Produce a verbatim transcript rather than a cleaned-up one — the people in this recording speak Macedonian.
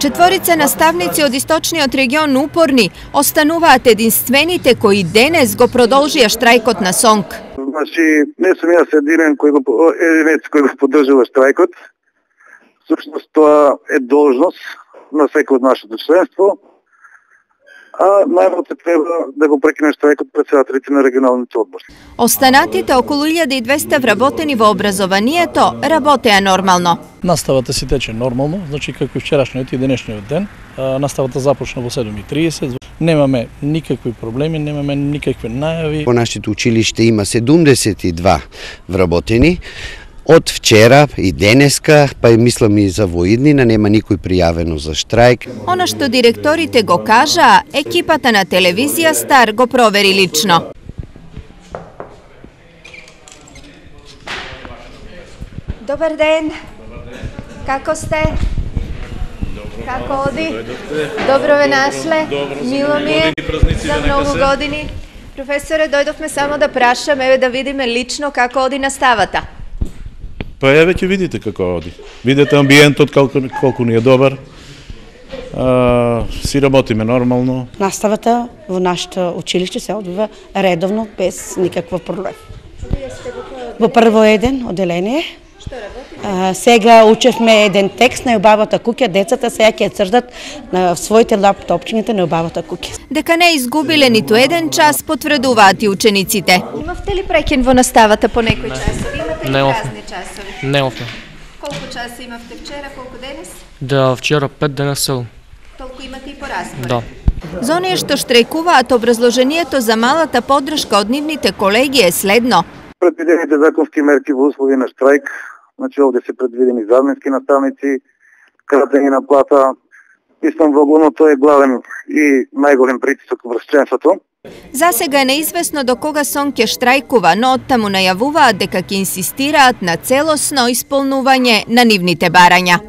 Четворица наставници од источниот регион упорни остануваат единствените кои денес го продолжија штрајкот на СОНК. Значи, не сум јас единен кој го единец кој го поддржува штрајкот. Всушност тоа е должност на секој од нашето членство. А најмалку треба да го прекине штрајкот претседателите на регионалните одбори. Останатите околу илјада и двесте вработени во образованието работеа нормално. Наставата си тече нормално, значи како и вчерашниот и денешниот ден. Наставата започна во седум и тридесет. Немаме никакви проблеми, немаме никакви најави. Во нашето училиште има седумдесет и два вработени. Од вчера и денеска, па и мислам и за воиднина, нема никој пријавено за штрајк. Она што директорите го кажаа, екипата на телевизија Стар го провери лично. Добар ден. Како сте? Како оди? Добро ве нашле. Мило ми е. За многу години. Професоре, дојдовме само да прашаме, еве да видиме лично како оди наставата. Па еве ќе видите како оди. Видете амбиентот колку, колку ни е добар. А, си работиме нормално. Наставата во нашето училиште се одвива редовно без никаква проблем. Во прво еден оделение. Што работите? А, сега учевме еден текст на убавата куќа, децата сега ќе цртат на своите лаптопчињата на убавата куќа. Дека не изгубиле ниту еден час, потврдуваат и учениците. Имавте ли прекин во наставата по некој часови? Имате ли празни часови? Немавме. Колку часа имавте вчера, колку денес? Да, вчера пет, денес седум. Толку имате и по распоред? Да. За оние што штрајкуваат, образложението за малата поддршка од нивните колеги е следно. Предвидените законски мерки во услови на штрајк, значи овде се предвидени заменски наставници, кратење на плата. Мислам во главно тоа е главен и најголем притисок врз членството. За сега е неизвестно до кога СОНК ќе штрајкува, но оттаму најавуваат дека ќе инсистираат на целосно исполнување на нивните барања.